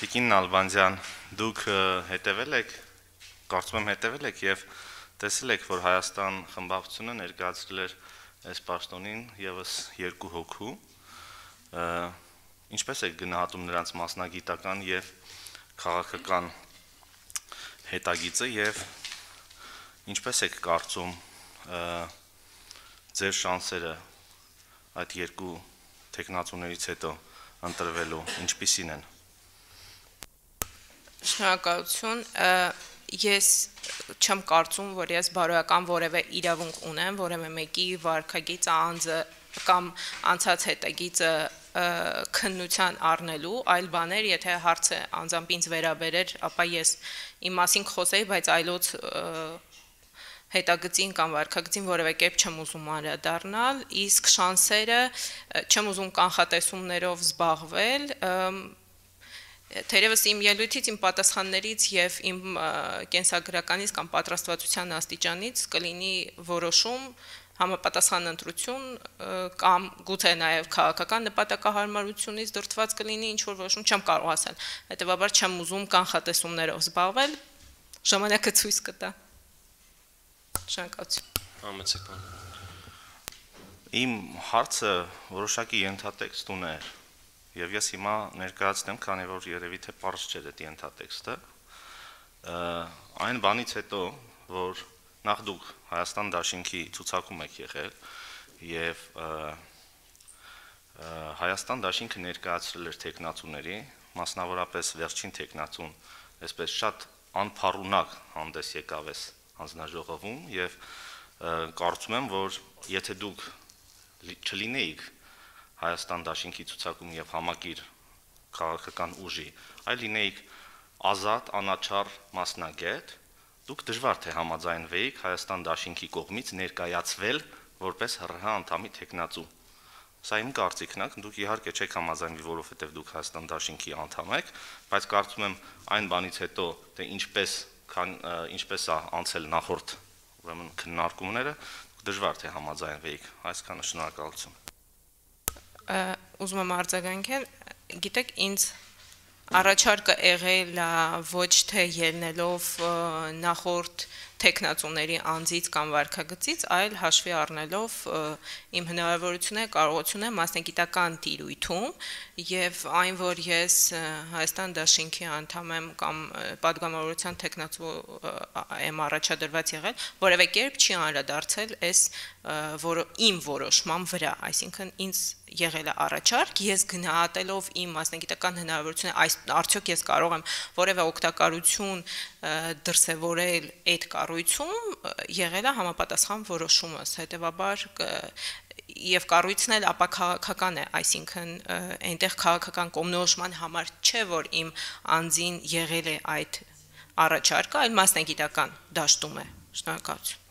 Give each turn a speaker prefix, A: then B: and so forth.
A: Տիկին Նալբանդյան, դուք հետևել եք, կարծում եմ հետևել եք եւ տեսել եք, որ Հայաստան խմբակցությունը ներկայացրել էր այս պաշտոնին եւս 2 հոգու, ինչպես եք գնահատում նրանց մասնագիտական եւ քաղաքական հետագիծը եւ ինչպես եք կարծում ձեր շանսերը այդ 2 տեխնացուներից հետո ընտրվելու ինչպիսին են։
B: Շնորհակալություն, ես չեմ կարծում, որ ես բարոյական որևէ իրավունք ունեմ, որևէ մեկի վարքագիծը անձը կամ անցած հետագիծը քննության առնելու, այլ բաներ, եթե հարցը անձամբ ինձ վերաբերեր, ապա ես իմ մասին խոսեի, բայց այլոց հետագծին կամ վարքագծին որևէ կերպ չեմ ուզում անդրադառնալ, իսկ շանսերը չեմ ուզում կանխատեսումներով զբաղվել, Թերևս իմ ելույթից, իմ պատասխաններից եւ իմ կենսագրականից կամ պատրաստվածության աստիճանից կլինի որոշում համապատասխան ընտրություն կամ գուցե նաեւ քաղաքական նպատակահարմարությունից դրդված կլինի ինչ որ որոշում չեմ կարող ասել, հետեւաբար չեմ ուզում կանխատեսումներով զբաղվել, ժամանակը ցույց կտա։
A: Շնորհակալություն։ Իմ հարցը որոշակի ենթատեքստ ուներ Եվ ես հիմա ներկայացնեմ, քանի որ երևի թե պարզ չէր այդ ենթատեքստը, այն բանից հետո, որ նախ դուք Հայաստան դաշինքի ցուցակում եք եղել եւ Հայաստան դաշինքը ներկայացրել էր տեխնացուների, մասնավորապես վերջին տեխնացուն, այսպես շատ անփառունակ հանդես եկավ այս հանձնաժողովում եւ կարծում եմ, որ եթե դուք չլինեիք Հայաստան դաշինքի ցուցակում եւ համակիր քաղաքական ուժի, այլ լինեիք ազատ, անաչառ մասնագետ, դուք դժվար թե համաձայնվեիք Հայաստան դաշինքի կողմից ներկայացվել որպես ՀՌՀ անդամի տեխնացու։ Սա իմ կարծիքն է, դուք իհարկե չեք համաձայնվի, որովհետեւ դուք Հայաստան դաշինքի անդամ եք, բայց կարծում եմ այն բանից հետո, թե ինչպես է անցել նախորդ, ուրեմն քննարկումները, դուք դժվար թե համաձայնվեիք, այսքանը շնորհակալություն։
B: Ուզում եմ արձագանքել, գիտեք, ինձ առաջարկը եղել է ոչ թե ելնելով նախորդ տեխնացուների անձից կամ վարքագծից, այլ հաշվի առնելով իմ հնարավորությունները, կարողությունները մասնագիտական տիրույթում եւ այն, որ ես Հայաստան դաշինքի անդամ եմ կամ պատգամավորության տեխնացու եմ առաջադրված եղել, որևէ կերպ չի անդրադարձել այս իմ որոշման վրա, այսինքն ինձ եղել է առաջարկ, ես գնահատելով իմ մասնագիտական հնարավորությունները, արդյոք ես կարող եմ որևէ օգտակարություն դրսևորել այդ կառույցում, եղել է համապատասխան որոշումս, հետեւաբար եւ կառույցն էլ ապա քաղաքական է, այսինքն այնտեղ քաղաքական կողմնորոշման համար չէ, որ իմ անձին եղել է այդ առաջարկը, այլ մասնագիտական դաշտում է։ Շնորհակալություն։